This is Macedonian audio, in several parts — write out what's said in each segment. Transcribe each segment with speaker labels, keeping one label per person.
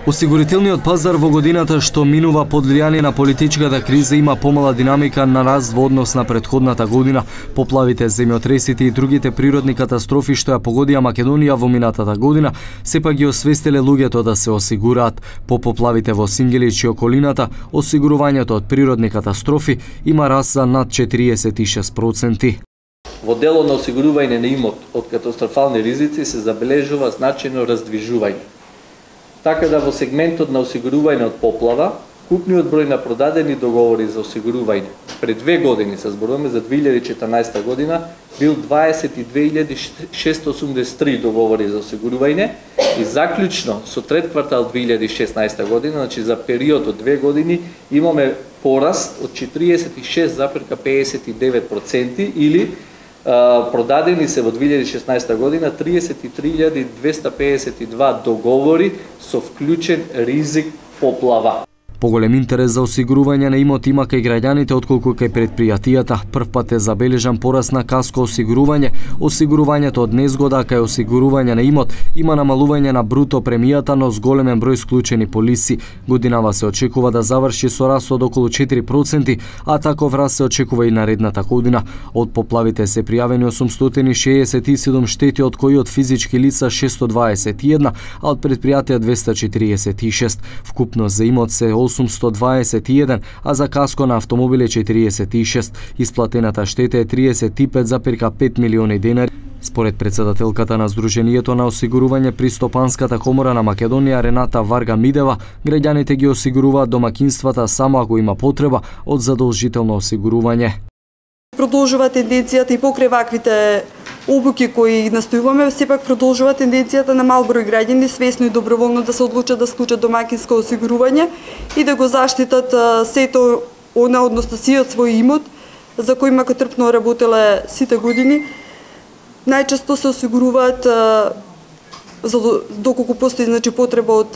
Speaker 1: Осигурителниот пазар во годината што минува под влијание на политичката криза има помала динамика на раст во однос на претходната година. Поплавите, земјотресите и другите природни катастрофи што ја погодија Македонија во минатата година, сепак ги освестиле луѓето да се осигураат. По поплавите во Сингелич и околината, осигурувањето од природни катастрофи има раст за над 46%.
Speaker 2: Во делот на осигурување на имот од катастрофални ризици се забележува значајно раздвижување. Така да во сегментот на осигурување од поплава, купниот број на продадени договори за осигурување пред 2 години, се зборуваме за 2014 година, бил 22.683 договори за осигурување и заклучно со трет квартал 2016 година, значи за период од 2 години, имаме пораст од 46,59% или продадени се во 2016 година 33.252 договори со вклучен ризик поплава.
Speaker 1: Поголем интерес за осигурување на имот има кај граѓаните отколку кај предпријатијата. Првпат е забележан пораст на каско осигурување, осигурувањето од незгода, кај осигурување на имот има намалување на бруто премијата, но с големен број склучени полиси. Годинава се очекува да заврши со раст од околу 4%, а таков раст се очекува и наредната година. Од поплавите се пријавени 867 штети, од кои од физички лица 621, а од предпријатија 246. Вкупно за имот се 821, а за каско на автомобиле 46. Исплатената штета е 35,5 милиони денари. Според председателката на Сдруженијето на осигурување при Стопанската комора на Македонија Рената Варга Мидева, граѓаните ги осигуруваат домакинствата само ако има потреба од задолжително осигурување.
Speaker 3: Продолжува тенденцијата и покрај ваквите обуки кои настојуваме, сепак продолжува тенденцијата на мал број граѓани свесно и доброволно да се одлучат да склучат домакинско осигурување и да го заштитат сето она, односно сиот свој имот за кој макотрпно работеле сите години. Најчесто се осигуруваат доколку постои потреба од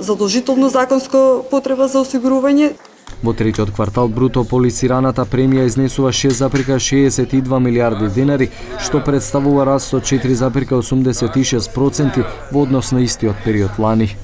Speaker 3: задолжително законско потреба за осигурување.
Speaker 1: Во третиот квартал бруто полисираната премија изнесува 6,62 милиарди денари, што представува раст од 4,86% во однос на истиот период лани.